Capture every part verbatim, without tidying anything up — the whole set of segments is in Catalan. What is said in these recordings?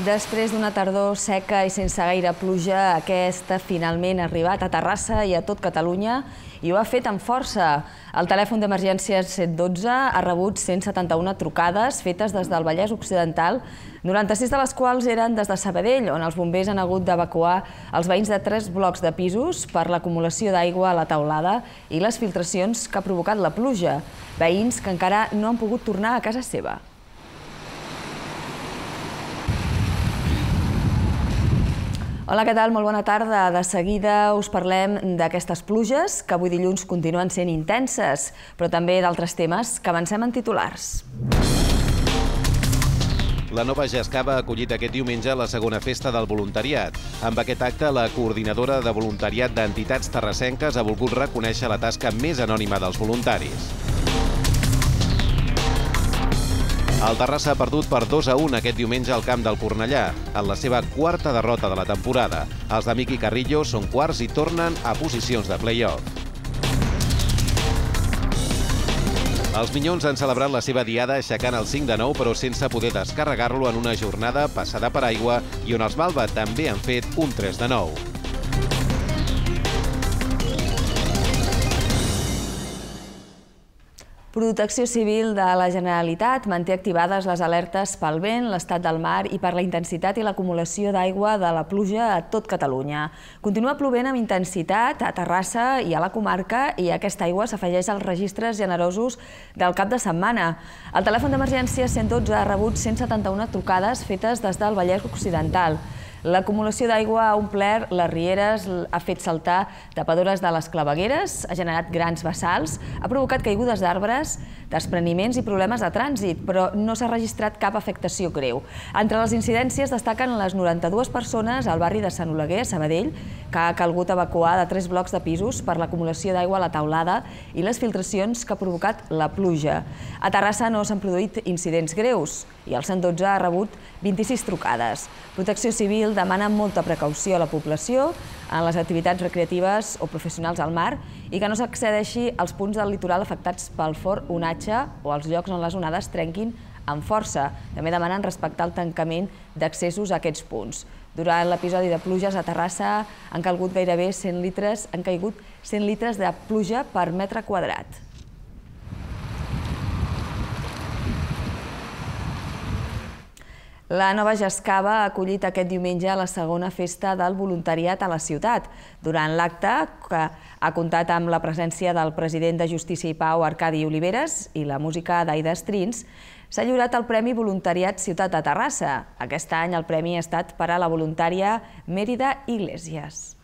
Després d'una tardor seca i sense gaire pluja, aquesta finalment ha arribat a Terrassa i a tot Catalunya i ho ha fet amb força. El telèfon d'emergències cent dotze ha rebut cent setanta-una trucades fetes des del Vallès Occidental, noranta-sis de les quals eren des de Sabadell, on els bombers han hagut d'evacuar els veïns de tres blocs de pisos per l'acumulació d'aigua a la teulada i les filtracions que ha provocat la pluja. Veïns que encara no han pogut tornar a casa seva. Hola, què tal? Molt bona tarda. De seguida us parlem d'aquestes pluges, que avui dilluns continuen sent intenses, però també d'altres temes que avancem en titulars. La Nova Jascava ha acollit aquest diumenge la segona festa del voluntariat. Amb aquest acte, la coordinadora de voluntariat d'entitats terrassenques ha volgut reconèixer la tasca més anònima dels voluntaris. El Terrassa ha perdut per dos a un aquest diumenge al camp del Cornellà, en la seva quarta derrota de la temporada. Els de Miqui Carrillo són quarts i tornen a posicions de play-off. Els Minyons han celebrat la seva diada aixecant el cinc de nou, però sense poder descarregar-lo en una jornada passada per aigua i on els Malva també han fet un tres de nou. Protecció Civil de la Generalitat manté activades les alertes pel vent, l'estat del mar i per la intensitat i l'acumulació d'aigua de la pluja a tot Catalunya. Continua plovent amb intensitat a Terrassa i a la comarca i aquesta aigua s'afegeix als registres generosos del cap de setmana. El telèfon d'emergència cent dotze ha rebut cent setanta-una trucades fetes des del Vallès Occidental. L'acumulació d'aigua ha omplert les rieres, ha fet saltar tapadores de les clavegueres, ha generat grans bassals, ha provocat caigudes d'arbres, despreniments i problemes de trànsit, però no s'ha registrat cap afectació greu. Entre les incidències destaquen les noranta-dues persones al barri de Sant Oleguer, a Sabadell, que ha calgut evacuar de tres blocs de pisos per l'acumulació d'aigua a la teulada i les filtracions que ha provocat la pluja. A Terrassa no s'han produït incidents greus i el cent dotze ha rebut vint-i-sis trucades. Protecció Civil demana molta precaució a la població en les activitats recreatives o professionals al mar i que no s'accedeixi als punts del litoral afectats pel fort onatge o als llocs on les onades trenquin amb força. També demanen respectar el tancament d'accessos a aquests punts. Durant l'episodi de pluges a Terrassa han calgut gairebé cent litres, han caigut cent litres de pluja per metre quadrat. La Nova Jascava ha acollit aquest diumenge la segona festa del voluntariat a la ciutat. Durant l'acte, que ha comptat amb la presència del president de Justícia i Pau, Arcadi Oliveres, i la música d'Aida Strins, s'ha lliurat el Premi Voluntariat Ciutat de Terrassa. Aquest any el premi ha estat per a la voluntària Mérida Iglesias.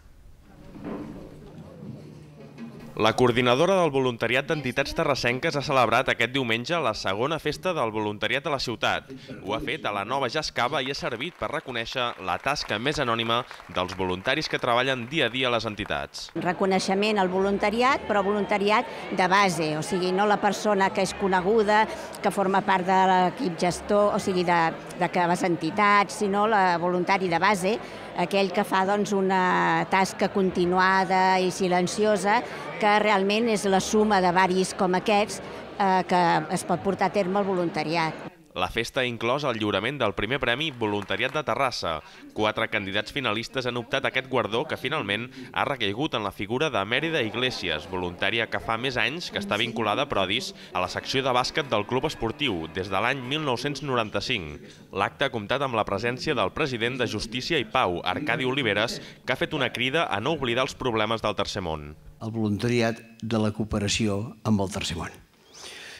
La coordinadora del voluntariat d'entitats terrassenques ha celebrat aquest diumenge la segona festa del voluntariat a la ciutat. Ho ha fet a la Nova Jascava i ha servit per reconèixer la tasca més anònima dels voluntaris que treballen dia a dia a les entitats. Reconeixement al voluntariat, però voluntariat de base, o sigui, no la persona que és coneguda, que forma part de l'equip gestor, o sigui, de, de les entitats, sinó la voluntari de base, aquell que fa doncs, una tasca continuada i silenciosa, que realment és la suma de varis com aquests eh, que es pot portar a terme el voluntariat. La festa ha inclòs el lliurament del primer premi Voluntariat de Terrassa. Quatre candidats finalistes han optat a aquest guardó que finalment ha recaigut en la figura de Mérida Iglesias, voluntària que fa més anys que està vinculada a Prodis a la secció de bàsquet del club esportiu des de l'any mil nou-cents noranta-cinc. L'acte ha comptat amb la presència del president de Justícia i Pau, Arcadi Oliveres, que ha fet una crida a no oblidar els problemes del tercer món. El voluntariat de la cooperació amb el tercer món.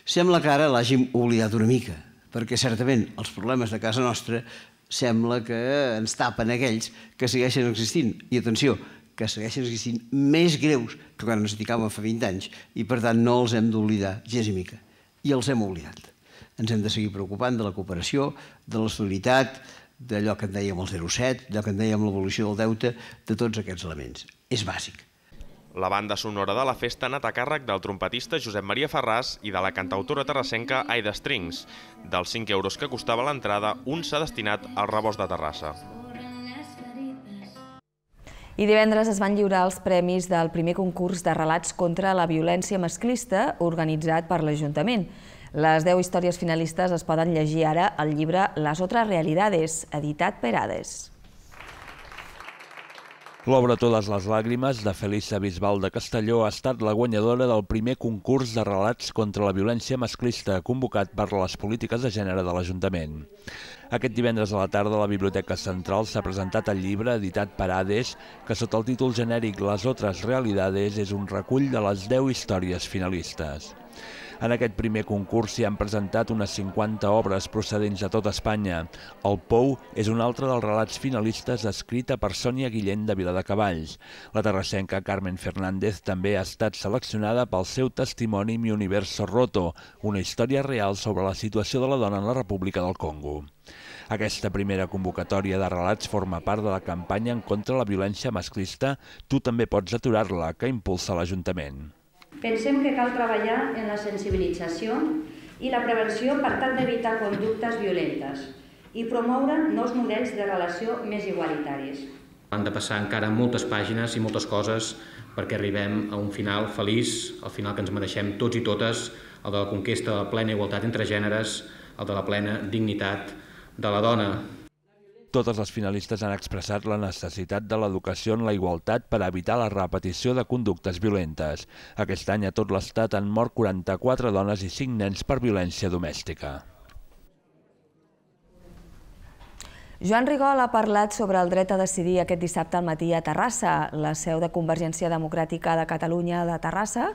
Sembla que ara l'hàgim oblidat una mica, perquè certament els problemes de casa nostra sembla que ens tapen aquells que segueixen existint. I atenció, que segueixen existint més greus que quan ens dedicàvem fa vint anys i per tant no els hem d'oblidar gens i mica. I els hem oblidat. Ens hem de seguir preocupant de la cooperació, de la solidaritat, d'allò que en dèiem el zero coma set, d'allò que en dèiem l'evolució del deute, de tots aquests elements. És bàsic. La banda sonora de la festa ha anat a càrrec del trompetista Josep Maria Ferràs i de la cantautora terrassenca Aida Strings. Dels cinc euros que costava l'entrada, un s'ha destinat al Rebost de Terrassa. I divendres es van lliurar els premis del primer concurs de relats contra la violència masclista organitzat per l'Ajuntament. Les deu històries finalistes es poden llegir ara al llibre Las otras realidades, editat per Hades. L'obra Totes les làgrimes, de Felisa Bisbal de Castelló, ha estat la guanyadora del primer concurs de relats contra la violència masclista convocat per les polítiques de gènere de l'Ajuntament. Aquest divendres a la tarda a la Biblioteca Central s'ha presentat el llibre editat per Hades, que sota el títol genèric Las otras realidades és un recull de les deu històries finalistes. En aquest primer concurs s'hi han presentat unes cinquanta obres procedents de tot Espanya. El Pou és un altre dels relats finalistes escrita per Sònia Guillén de Viladecavalls. La terrassenca Carmen Fernández també ha estat seleccionada pel seu testimoni Mi universo roto, una història real sobre la situació de la dona en la República del Congo. Aquesta primera convocatòria de relats forma part de la campanya en contra la violència masclista Tu també pots aturar-la, que impulsa l'Ajuntament. Pensem que cal treballar en la sensibilització i la prevenció per tal d'evitar conductes violentes i promoure nous models de relació més igualitaris. Han de passar encara moltes pàgines i moltes coses perquè arribem a un final feliç, al final que ens mereixem tots i totes, el de la conquesta de la plena igualtat entre gèneres, el de la plena dignitat de la dona. Totes les finalistes han expressat la necessitat de l'educació en la igualtat per evitar la repetició de conductes violentes. Aquest any a tot l'Estat han mort quaranta-quatre dones i cinc nens per violència domèstica. Joan Rigol ha parlat sobre el dret a decidir aquest dissabte al matí a Terrassa. La seu de Convergència Democràtica de Catalunya de Terrassa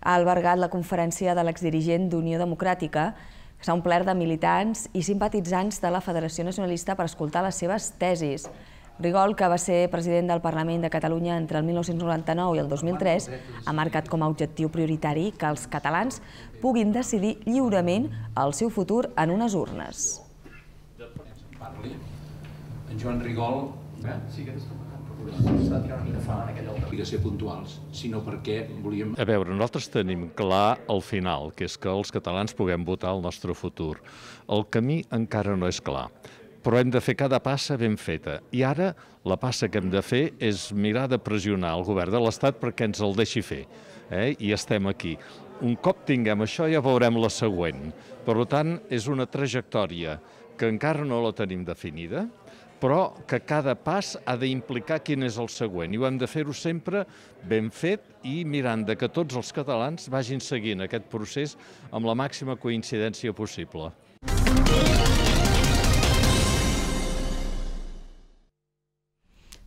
ha albergat la conferència de l'exdirigent d'Unió Democràtica, que s'ha omplert de militants i simpatitzants de la Federació Nacionalista per escoltar les seves tesis. Rigol, que va ser president del Parlament de Catalunya entre el mil nou-cents noranta-nou i el dos mil tres, ha marcat com a objectiu prioritari que els catalans puguin decidir lliurement el seu futur en unes urnes. En Joan Rigol sí que s'ha tirat una mica fora en aquella obligació puntuals, sinó perquè volíem... A veure, nosaltres tenim clar el final, que és que els catalans puguem votar el nostre futur. El camí encara no és clar, però hem de fer cada passa ben feta. I ara la passa que hem de fer és mirar de pressionar el govern de l'Estat perquè ens el deixi fer. Eh? I estem aquí. Un cop tinguem això ja veurem la següent. Per tant, és una trajectòria que encara no la tenim definida, però que cada pas ha d'implicar quin és el següent. I ho hem de fer-ho sempre ben fet i mirant de que tots els catalans vagin seguint aquest procés amb la màxima coincidència possible.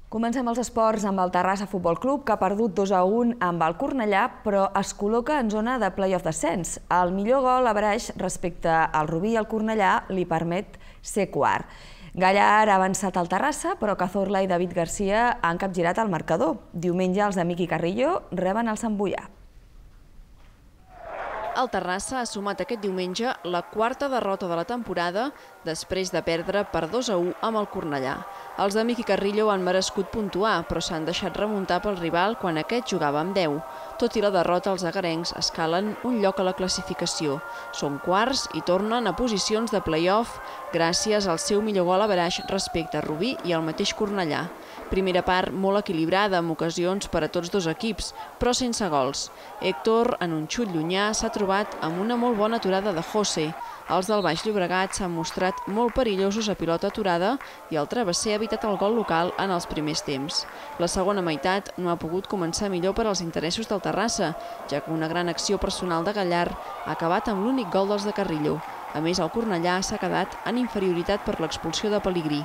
Comencem els esports amb el Terrassa Futbol Club, que ha perdut dos a un amb el Cornellà, però es col·loca en zona de play-off descens. El millor gol a Braix respecte al Rubí i al Cornellà li permet ser quart. Gallar ha avançat al Terrassa, però Cazorla i David Garcia han capgirat el marcador. Diumenge els de Miqui Carrillo reben el Sant Boià. El Terrassa ha sumat aquest diumenge la quarta derrota de la temporada després de perdre per dos a u amb el Cornellà. Els de Miqui Carrillo han merescut puntuar, però s'han deixat remuntar pel rival quan aquest jugava amb deu. Tot i la derrota, els agarencs escalen un lloc a la classificació. Són quarts i tornen a posicions de play-off gràcies al seu millor gol a Braix respecte a Rubí i al mateix Cornellà. Primera part molt equilibrada, amb ocasions per a tots dos equips, però sense gols. Héctor, en un xut llunyà, s'ha trobat amb una molt bona aturada de José. Els del Baix Llobregat s'han mostrat molt perillosos a pilota aturada i el travesser ha evitat el gol local en els primers temps. La segona meitat no ha pogut començar millor per als interessos del Terrassa, ja que una gran acció personal de Gallar ha acabat amb l'únic gol dels de Carrillo. A més, el Cornellà s'ha quedat en inferioritat per l'expulsió de Pelegrí.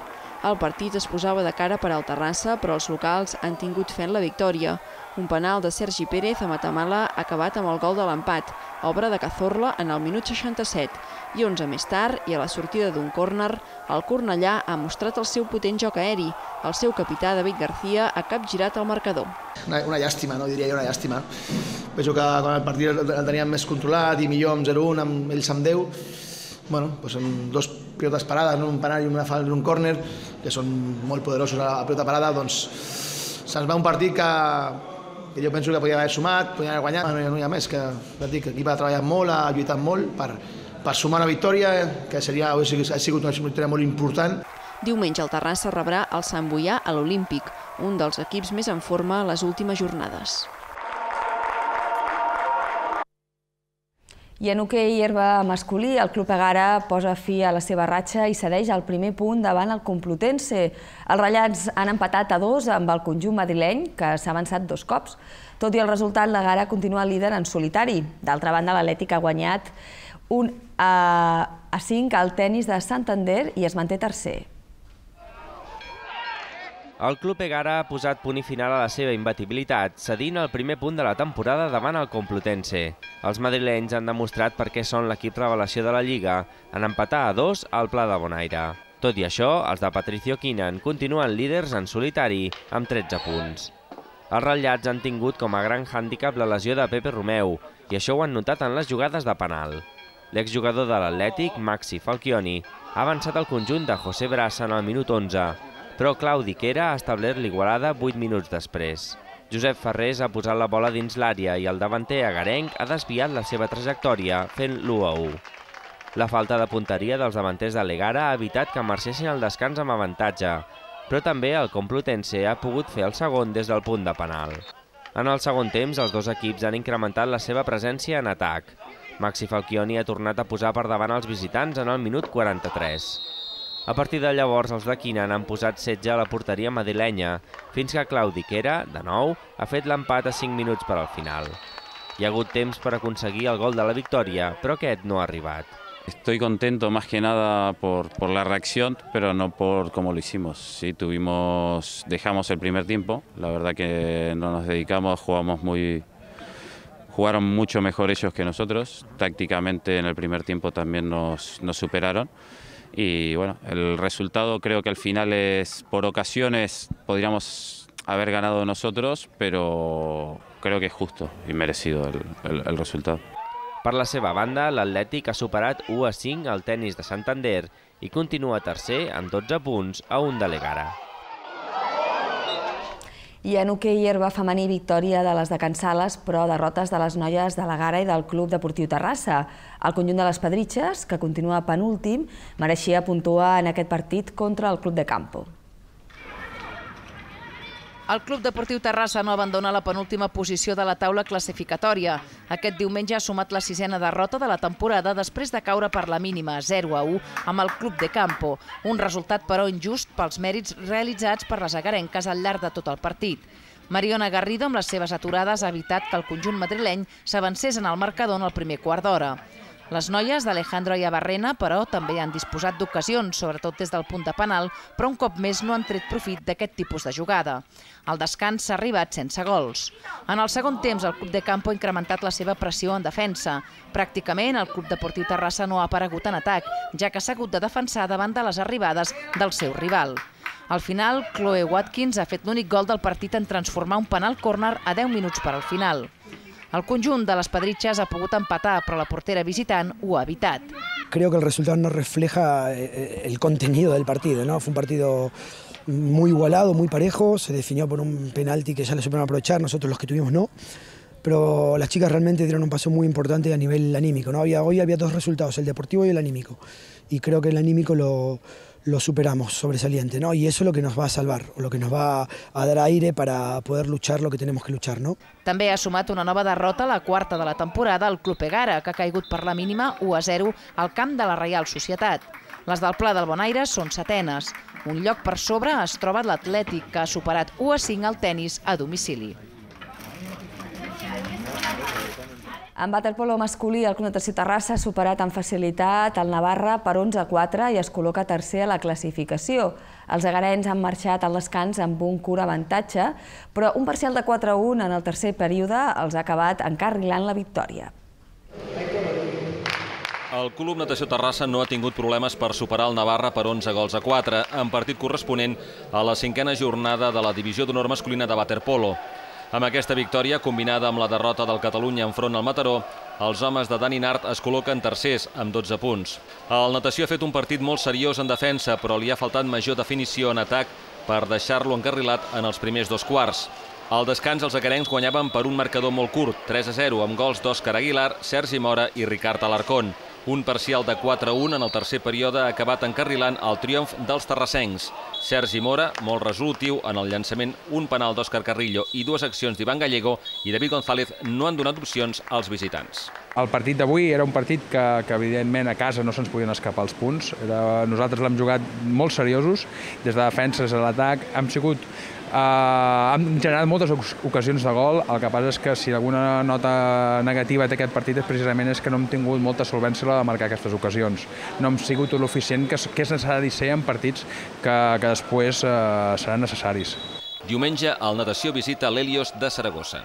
El partit es posava de cara per al Terrassa, però els locals han tingut fe en la victòria. Un penal de Sergi Pérez a Matamala ha acabat amb el gol de l'empat, obra de Cazorla en el minut seixanta-set. I onze més tard, i a la sortida d'un córner, el Cornellà ha mostrat el seu potent joc aeri. El seu capità, David Garcia, ha capgirat el marcador. Una, una llàstima, no diria jo, una llàstima. Penso que quan el partit el teníem més controlat i millor amb zero a un, amb ells amb deu, bueno, doncs amb dos pilotes parades, un penal i una falta d'un córner, que són molt poderosos a la pilota parada, doncs se'ns va un partit que, que jo penso que podria haver sumat, podria haver guanyat, no hi ha, no hi ha més, que l'equip ha treballat molt, ha lluitat molt per, per sumar una victòria, que seria, ha sigut una victòria molt important. Diumenge el Terrassa rebrà el Sant Boià a l'Olímpic, un dels equips més en forma a les últimes jornades. I en hoquei herba masculí, el Club Egara posa fi a la seva ratxa i cedeix el primer punt davant el Complutense. Els ratllats han empatat a dos amb el conjunt madrileny, que s'ha avançat dos cops. Tot i el resultat, l'Egara continua líder en solitari. D'altra banda, l'Atlètic ha guanyat un a cinc al tennis de Santander i es manté tercer. El Club Egara ha posat punt i final a la seva imbatibilitat, cedint el primer punt de la temporada davant el Complutense. Els madrilenys han demostrat per què són l'equip revelació de la Lliga, en empatar a dos al Pla de Bonaire. Tot i això, els de Patricio Quinan continuen líders en solitari, amb tretze punts. Els ratllats han tingut com a gran hàndicap la lesió de Pepe Romeu, i això ho han notat en les jugades de penal. L'exjugador de l'Atlètic, Maxi Falchioni, ha avançat el conjunt de José Brasa en el minut onze, però Claudi Quera ha establert l'igualada vuit minuts després. Josep Ferrés ha posat la bola dins l'àrea i el davanter agarenc ha desviat la seva trajectòria, fent l'u a u. La falta de punteria dels davanters de l'Egara ha evitat que marxessin al descans amb avantatge, però també el Complutense ha pogut fer el segon des del punt de penal. En el segon temps, els dos equips han incrementat la seva presència en atac. Maxi Falchioni ha tornat a posar per davant els visitants en el minut quaranta-tres. A partir de llavors, els de Quinan han posat setge a la porteria madrilenya, fins que Claudi Quera, de nou, ha fet l'empat a cinc minuts per al final. Hi ha hagut temps per aconseguir el gol de la victòria, però aquest no ha arribat. Estoy contento más que nada por, por la reacción, pero no por cómo lo hicimos. Sí, tuvimos, dejamos el primer tiempo, la verdad que no nos dedicamos, jugamos muy, jugaron mucho mejor ellos que nosotros. Tácticamente en el primer tiempo también nos, nos superaron. Y bueno, el resultado creo que al final es, por ocasiones podríamos haber ganado nosotros, pero creo que es justo y merecido el, el, el resultado. Per la seva banda, l'Atlètic ha superat u a cinc al tennis de Santander i continua tercer amb dotze punts a un de l'Egara. I en hoquei herba femení, victòria de les de Can Sales, però derrotes de les noies de l'Egara i del Club Deportiu Terrassa. El conjunt de les Pedritxes, que continua penúltim, mereixia puntuar en aquest partit contra el Club de Campo. El Club Deportiu Terrassa no abandona la penúltima posició de la taula classificatòria. Aquest diumenge ha sumat la sisena derrota de la temporada després de caure per la mínima zero a u amb el Club de Campo, un resultat però injust pels mèrits realitzats per les agarenques al llarg de tot el partit. Mariona Garrido, amb les seves aturades, ha evitat que el conjunt madrileny s'avancés en el marcador en el primer quart d'hora. Les noies d'Alejandro Iabarrena, però, també han disposat d'ocasions, sobretot des del punt de penal, però un cop més no han tret profit d'aquest tipus de jugada. El descans s'ha arribat sense gols. En el segon temps, el Club de Campo ha incrementat la seva pressió en defensa. Pràcticament, el Club Deportiu Terrassa no ha aparegut en atac, ja que s'ha hagut de defensar davant de les arribades del seu rival. Al final, Chloe Watkins ha fet l'únic gol del partit en transformar un penal córner a deu minuts per al final. El conjunt de les Pedritxes ha pogut empatar, però la portera visitant ho ha evitat. Creo que el resultado no refleja el contenido del partido, ¿no? Fue un partido muy igualado, muy parejo, se definió por un penalti que ya le supieron aprovechar, nosotros los que tuvimos no, pero las chicas realmente dieron un paso muy importante a nivel anímico, ¿no? Había, hoy había dos resultados, el deportivo y el anímico, y creo que el anímico lo... lo superamos sobresaliente, ¿no? Y eso es lo que nos va a salvar, o lo que nos va a dar aire para poder luchar lo que tenemos que luchar, ¿no? També ha sumat una nova derrota, la quarta de la temporada, al Club Egara, que ha caigut per la mínima u a zero al camp de la Reial Societat. Les del Pla del Bonaire són setenes. Un lloc per sobre es troba l'Atlètic, que ha superat u a cinc al tennis a domicili. En waterpolo masculí, el Club Natació Terrassa ha superat amb facilitat el Navarra per onze a quatre i es col·loca tercer a la classificació. Els egarens han marxat al descans amb un curt avantatge, però un parcial de quatre a un en el tercer període els ha acabat encarrilant la victòria. El Club Natació Terrassa no ha tingut problemes per superar el Navarra per onze gols a quatre, en partit corresponent a la cinquena jornada de la divisió d'honor masculina de waterpolo. Amb aquesta victòria, combinada amb la derrota del Catalunya enfront al Mataró, els homes de Dani Nart es col·loquen tercers amb dotze punts. El Natació ha fet un partit molt seriós en defensa, però li ha faltat major definició en atac per deixar-lo encarrilat en els primers dos quarts. Al descans, els egarencs guanyaven per un marcador molt curt, tres a zero, amb gols d'Òscar Aguilar, Sergi Mora i Ricard Alarcón. Un parcial de quatre a un en el tercer període ha acabat encarrilant el triomf dels terrassencs. Sergi Mora, molt resolutiu en el llançament, un penal d'Òscar Carrillo i dues accions d'Ivan Gallego i David González no han donat opcions als visitants. El partit d'avui era un partit que, que evidentment a casa no se'ns podien escapar els punts. Era, nosaltres l'hem jugat molt seriosos, des de defenses a l'atac. Hem sigut Uh, hem generat moltes ocasions de gol. El que passa és que si alguna nota negativa té aquest partit és precisament és que no hem tingut molta solvència a l'hora de marcar aquestes ocasions. No hem sigut l'eficient que, que és necessari ser en partits que, que després uh, seran necessaris. Diumenge, el Natació visita l'Helios de Saragossa.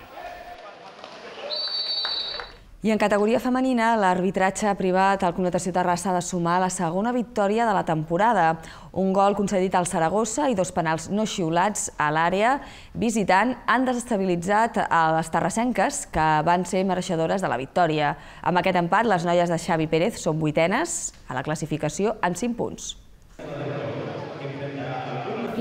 I en categoria femenina, l'arbitratge privat al Club Natació Terrassa ha de sumar la segona victòria de la temporada. Un gol concedit al Saragossa i dos penals no xiulats a l'àrea visitant han desestabilitzat a les terrassenques, que van ser mereixedores de la victòria. Amb aquest empat, les noies de Xavi Pérez són vuitenes a la classificació amb cinc punts.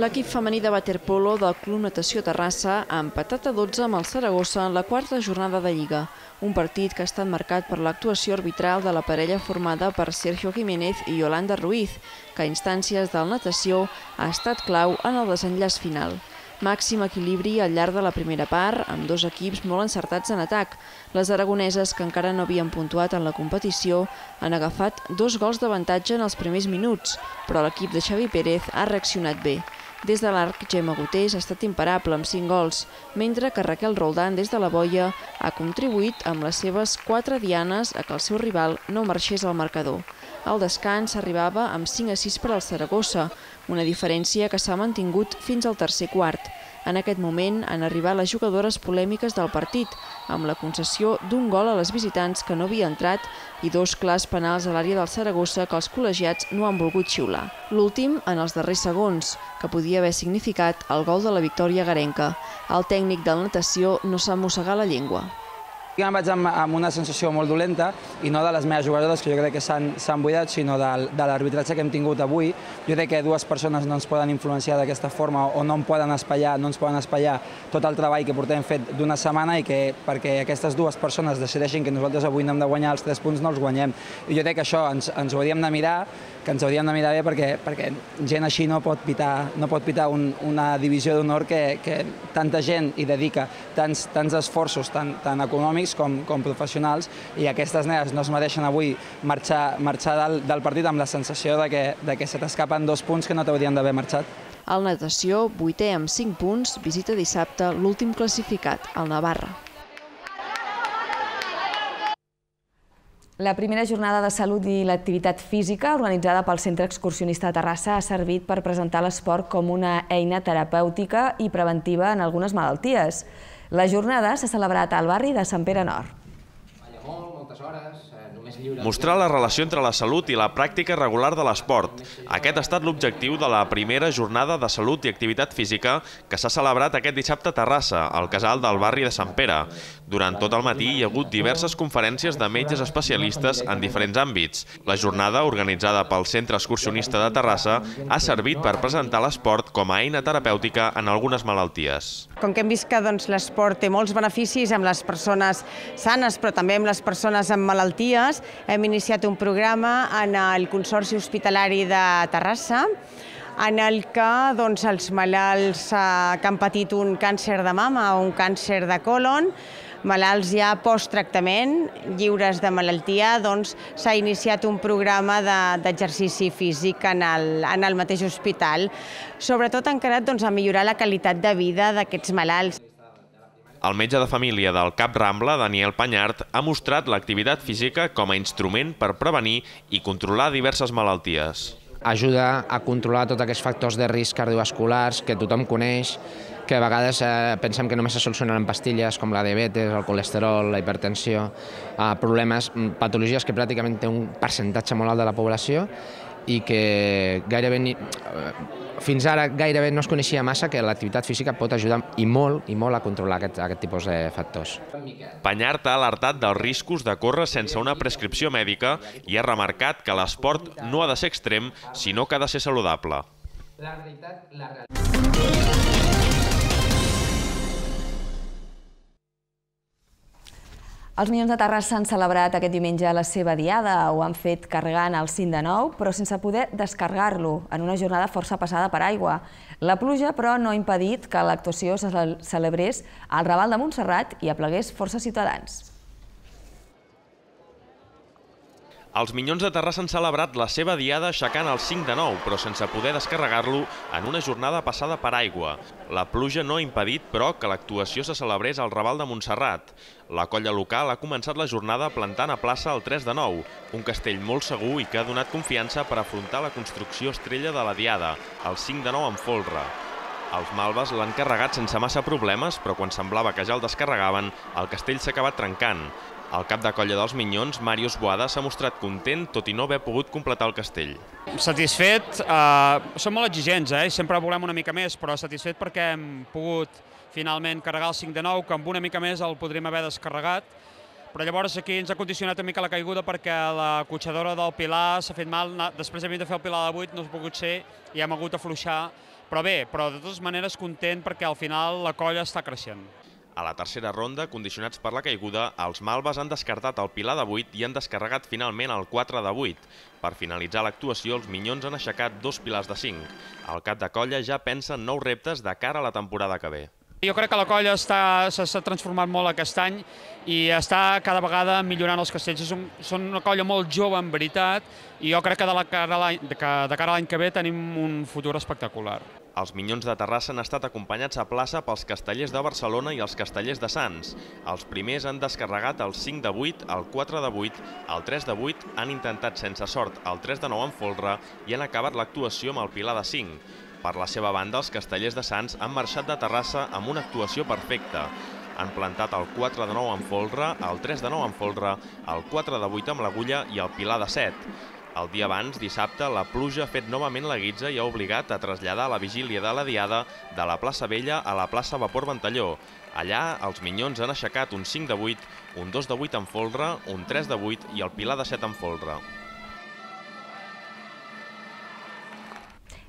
L'equip femení de waterpolo del Club Natació Terrassa ha empatat a dotze amb el Saragossa en la quarta jornada de Lliga. Un partit que ha estat marcat per l'actuació arbitral de la parella formada per Sergio Jiménez i Yolanda Ruiz, que a instàncies del natació ha estat clau en el desenllaç final. Màxim equilibri al llarg de la primera part, amb dos equips molt encertats en atac. Les aragoneses, que encara no havien puntuat en la competició, han agafat dos gols d'avantatge en els primers minuts, però l'equip de Xavi Pérez ha reaccionat bé. Des de l'arc, Gemma Gotés ha estat imparable amb cinc gols, mentre que Raquel Roldán, des de la boia, ha contribuït amb les seves quatre dianes a que el seu rival no marxés al marcador. Al descans arribava amb cinc a sis per al Saragossa, una diferència que s'ha mantingut fins al tercer quart. En aquest moment han arribat les jugadores polèmiques del partit, amb la concessió d'un gol a les visitants que no havia entrat i dos clars penals a l'àrea del Saragossa que els col·legiats no han volgut xiular. L'últim en els darrers segons, que podia haver significat el gol de la victòria garenca. El tècnic del natació no s'ha mossegat la llengua. Jo em vaig amb, amb una sensació molt dolenta, i no de les meves jugadores, que jo crec que s'han buidat, sinó de, de l'arbitratge que hem tingut avui. Jo crec que dues persones no ens poden influenciar d'aquesta forma o no em poden espaiar, no ens poden espaiar tot el treball que portem fet d'una setmana i que perquè aquestes dues persones decideixin que nosaltres avui no hem de guanyar els tres punts, no els guanyem. I jo crec que això ens, ens ho hauríem de mirar, que ens hauríem de mirar bé perquè, perquè gent així no pot pitar, no pot pitar un, una divisió d'honor que, que tanta gent hi dedica tants, tants esforços, tant, tant econòmics com, com professionals, i aquestes nenes no es mereixen avui marxar, marxar del, del partit amb la sensació de que, de que se t'escapen dos punts que no t'haurien d'haver marxat. El natació, vuitè amb cinc punts, visita dissabte l'últim classificat, el Navarra. La primera jornada de salut i l'activitat física organitzada pel Centre Excursionista de Terrassa ha servit per presentar l'esport com una eina terapèutica i preventiva en algunes malalties. La jornada s'ha celebrat al barri de Sant Pere Nord. Mostrar la relació entre la salut i la pràctica regular de l'esport. Aquest ha estat l'objectiu de la primera jornada de salut i activitat física que s'ha celebrat aquest dissabte a Terrassa, al casal del barri de Sant Pere. Durant tot el matí hi ha hagut diverses conferències de metges especialistes en diferents àmbits. La jornada, organitzada pel Centre Excursionista de Terrassa, ha servit per presentar l'esport com a eina terapèutica en algunes malalties. Com que hem vist que l'esport té molts beneficis amb les persones sanes, però també amb les persones amb malalties, hem iniciat un programa en el Consorci Hospitalari de Terrassa, en el que doncs, els malalts que han patit un càncer de mama o un càncer de còlon, malalts ja post-tractament, lliures de malaltia, doncs s'ha iniciat un programa d'exercici físic en el, en el mateix hospital, sobretot encarat doncs, a millorar la qualitat de vida d'aquests malalts. El metge de família del Cap Rambla, Daniel Panyart, ha mostrat l'activitat física com a instrument per prevenir i controlar diverses malalties. Ajuda a controlar tots aquests factors de risc cardiovasculars que tothom coneix, que a vegades eh, pensem que només se solucionen amb pastilles com la diabetes, el colesterol, la hipertensió, eh, problemes, patologies que pràcticament té un percentatge molt alt de la població i que gairebé ni, fins ara gairebé no es coneixia massa que l'activitat física pot ajudar i molt i molt a controlar aquest, aquest tipus de factors. Panyart ha alertat dels riscos de córrer sense una prescripció mèdica i ha remarcat que l'esport no ha de ser extrem, sinó que ha de ser saludable. La realitat, la realitat... Els Minyons de Terrassa han celebrat aquest diumenge la seva diada. Ho han fet carregant el cinc de nou, però sense poder descarregar-lo, en una jornada força passada per aigua. La pluja, però, no ha impedit que l'actuació se celebrés al Raval de Montserrat i aplegués força ciutadans. Els Minyons de Terrassa han celebrat la seva diada aixecant el cinc de nou, però sense poder descarregar-lo en una jornada passada per aigua. La pluja no ha impedit, però, que l'actuació se celebrés al Raval de Montserrat. La colla local ha començat la jornada plantant a plaça el tres de nou, un castell molt segur i que ha donat confiança per afrontar la construcció estrella de la diada, el cinc de nou en folre. Els malves l'han carregat sense massa problemes, però quan semblava que ja el descarregaven, el castell s'ha acabat trencant. El cap de colla dels Minyons, Màrius Boada, s'ha mostrat content, tot i no haver pogut completar el castell. Satisfet, eh, som molt exigents, eh? Sempre volem una mica més, però satisfet perquè hem pogut finalment carregar el cinc de nou, que amb una mica més el podríem haver descarregat. Però llavors aquí ens ha condicionat una mica la caiguda perquè la cotxadora del Pilar s'ha fet mal, després hem de fer el Pilar de vuit, no ha pogut ser i hem hagut d'afluixar. Però bé, però de totes maneres content perquè al final la colla està creixent. A la tercera ronda, condicionats per la caiguda, els malves han descartat el Pilar de vuit i han descarregat finalment el quatre de vuit. Per finalitzar l'actuació, els Minyons han aixecat dos pilars de cinc. El cap de colla ja pensa en nous reptes de cara a la temporada que ve. Jo crec que la colla s'ha transformat molt aquest any i està cada vegada millorant els castells. Són una colla molt jove, en veritat, i jo crec que de cara a l'any que ve tenim un futur espectacular. Els Minyons de Terrassa han estat acompanyats a plaça pels castellers de Barcelona i els castellers de Sants. Els primers han descarregat el cinc de vuit, el quatre de vuit, el tres de vuit, han intentat sense sort el tres de nou en folre i han acabat l'actuació amb el Pilar de cinc. Per la seva banda, els castellers de Sants han marxat de Terrassa amb una actuació perfecta. Han plantat el quatre de nou en folre, el tres de nou en folre, el quatre de vuit amb l'agulla i el Pilar de set. El dia abans, dissabte, la pluja ha fet novament la guitza i ha obligat a traslladar la vigília de la diada de la plaça Vella a la plaça Vapor Ventalló. Allà, els Minyons han aixecat un cinc de vuit, un dos de vuit en folre, un tres de vuit i el Pilar de set en folre.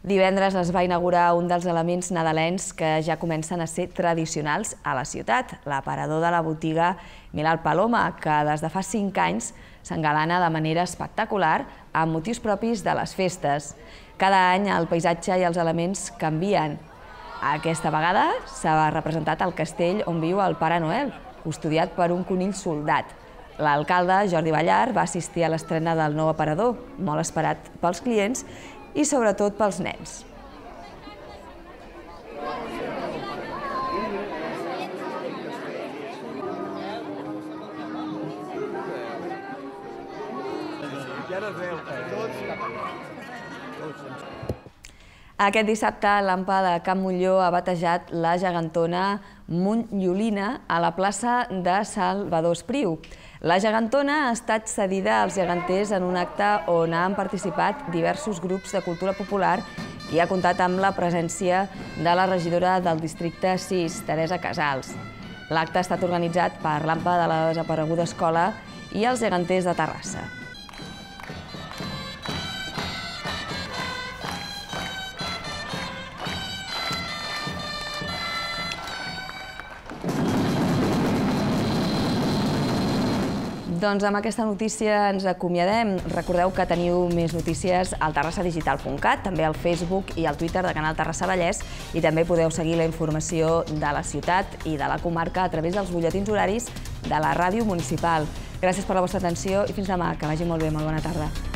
Divendres es va inaugurar un dels elements nadalencs que ja comencen a ser tradicionals a la ciutat, l'aparador de la botiga Milal Paloma, que des de fa cinc anys s'engalana de manera espectacular amb motius propis de les festes. Cada any el paisatge i els elements canvien. Aquesta vegada s'ha representat el castell on viu el Pare Noel, custodiat per un conill soldat. L'alcalde, Jordi Ballar, va assistir a l'estrena del nou aparador, molt esperat pels clients i sobretot pels nens. Aquest dissabte, l'Ampa de Can Montllor ha batejat la gegantona Montllolina a la plaça de Salvador Espriu. La gegantona ha estat cedida als geganters en un acte on han participat diversos grups de cultura popular i ha comptat amb la presència de la regidora del districte sis, Teresa Casals. L'acte ha estat organitzat per l'Ampa de la desapareguda escola i els geganters de Terrassa. Doncs amb aquesta notícia ens acomiadem. Recordeu que teniu més notícies al terrassa digital punt cat, també al Facebook i al Twitter de Canal Terrassa Vallès, i també podeu seguir la informació de la ciutat i de la comarca a través dels butlletins horaris de la ràdio municipal. Gràcies per la vostra atenció i fins demà. Que vagi molt bé. Molt bona tarda.